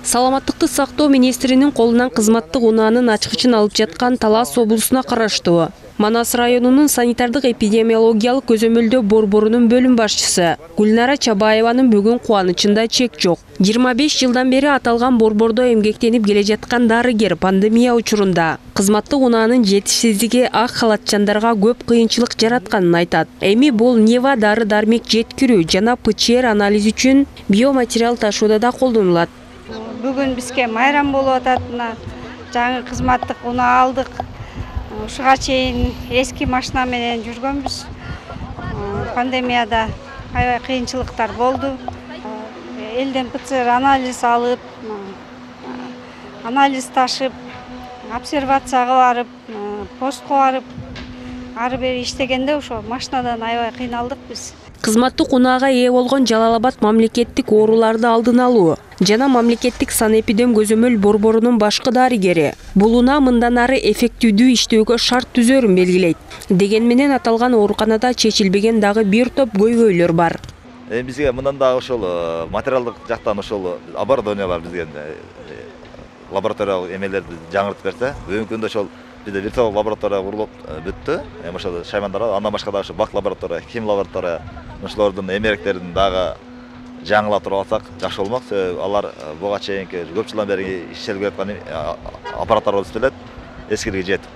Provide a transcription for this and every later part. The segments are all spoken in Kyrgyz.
Саламаттыкты сактоо министринин колунан кызматтык унаанын ачкычын алып жаткан Талас облусуна караштуу Манас районунун санитардык эпидемиологиялык көзөмөлдөө борборунун бөлүм башчысы Гүлнара Чабаеванын бүгүн кубанычында чек жок. 25 жылдан бери аталган борбордо эмгектенип келе жаткан дарыгер пандемия учурунда кызматтык унаанын жетишсиздиги ак халатчандарга көп кыйынчылык жаратканын айтат. Эми бул Нева дары-дармек жеткирүү жана ПЧР анализ үчүн биоматериал ташууда да колдонулат. Бүгүн бизге майрам болуп атат. Жаңы кызматтык унаа алдык. Ушуга чейин эски машина менен жүргөнбүз. Пандемияда аябай кыйынчылыктар болду. Элден ПЦР анализ алып, анализ ташып, обсервацияга барып, постко барып, ары бери иштегенде ошо машинадан аябай кыйналдык биз. Кызматтык унаага ээ болгон Жалал Абад мамлекеттик ооруларды алдын алуу жана мамлекеттик санэпидем көзөмөл борборунун башкы дарыгери бул унаа мындан ары эффективдүү иштөөгө шарт түзөрүн белгилейт. Деген менен аталган ооруканада чечилбеген дагы бир топ көйгөйлөр бар. Бизге мындан дагы ошол материалдык жактан ошол оборудованиялар бизге лабораториялык эмелерди жаңыртып берсе, бүгүнкү күндө ошол бизде виртуалдык лаборатория курулуп бүттү. Ошол Шаймандарда андан башка дагы бак лаборатория, хим лаборатория, ошолордун эмеректерин дагы жаңылатып алсак жакшы болмок. Алар буга чейинки көп жылдан бери иштелип жаткан аппараттар болуп келет, эскилиги жетип.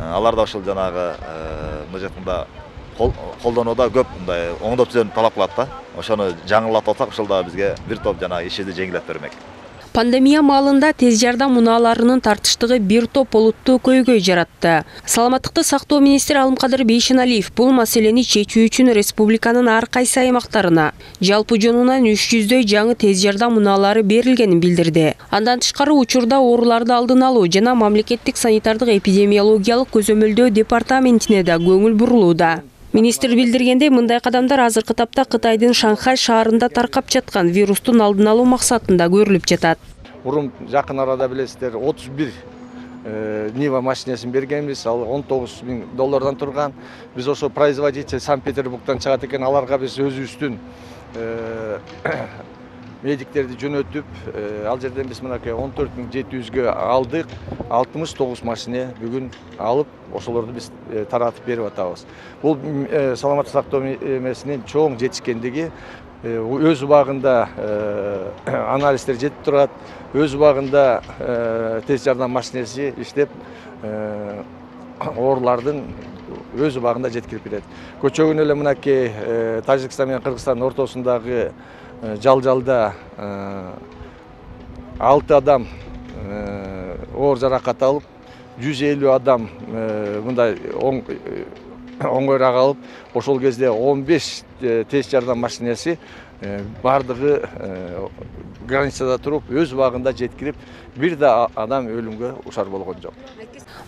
Алар да ошол жанагы мына жактында колдонууда көп мындай оңдоп түзүүнү талап кылат да. Ошону жаңылатып алсак, ошол да бизге бир топ жанагы ишибизди жеңилдетип бермек. Пандемия маалында тез жардам унааларынын тартыштыгы бир топ олуттуу көйгөй жаратты. Саламаттыкты сактоо министри Алымкадыр Бейшеналиев бул маселени чечүү үчүн республиканын ар кайсы аймактарына жалпы жонунан 300дөй жаңы тез жардам унаалары берилгенин билдирди. Андан тышкары учурда ооруларды алдын алуу жана мамлекеттик санитардык эпидемиологиялык көзөмөлдөө департаментине да көңүл бурулууда. Министр билдиргендей, мындай кадамдар азыркы тапта Кытайдын Шанхай шаарында таркап жаткан вирустун алдын алуу максатында көрүлүп жатат. Мурун жакын арада билесиздер 31 Нива машинесин бергенбиз, ал $19,000 турган. Биз ошо производитель Санкт-Петербургдан чыгат экен, аларга биз өзүбүздүн медиктерди жөнөтүп, ал жерден биз мынакей 14,700гө алдык. 69 машина бүгүн алып, ошолорду биз таратып берип атабыз. Бул саламаттык сактоо эмесинин чоң жетишкендиги, өз убагында анализдер жетип турат, өз убагында тез жардам машинеси иштеп, оорулардын өз убагында жеткирип берет. Көчөгүн эле мынакей Тажикстан менен Кыргызстандын ортосундагы жалжалда 6 адам оор жаракат алып, 150 адам мындай оңойраак алып, ошол кезде 15 тез жардам машинеси бардыгы границада туруп, өз убагында жеткирип, бир да адам өлүмгө ушар болгон жок.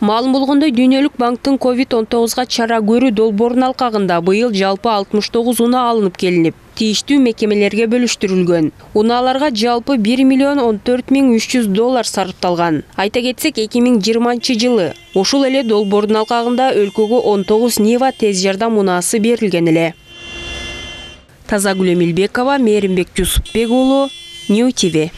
Маалым болгондой, Дүйнөлүк банктын COVID-19га чара көрүү долбоорунун алкагында быйыл жалпы 69 унаа алынып келинип, тийиштүү мекемелерге бөлүштүрүлгөн. Унааларга жалпы $1,14,300 сарпталган. Айта кетсек, 2020 жылы ушул эле долбоордун алкагында өлкөгө 19 Нива тез жардам унаасы берилген эле. Тазагүл Эмилбекова, Мээримбек Жусупбек уулу, Нью ТВ.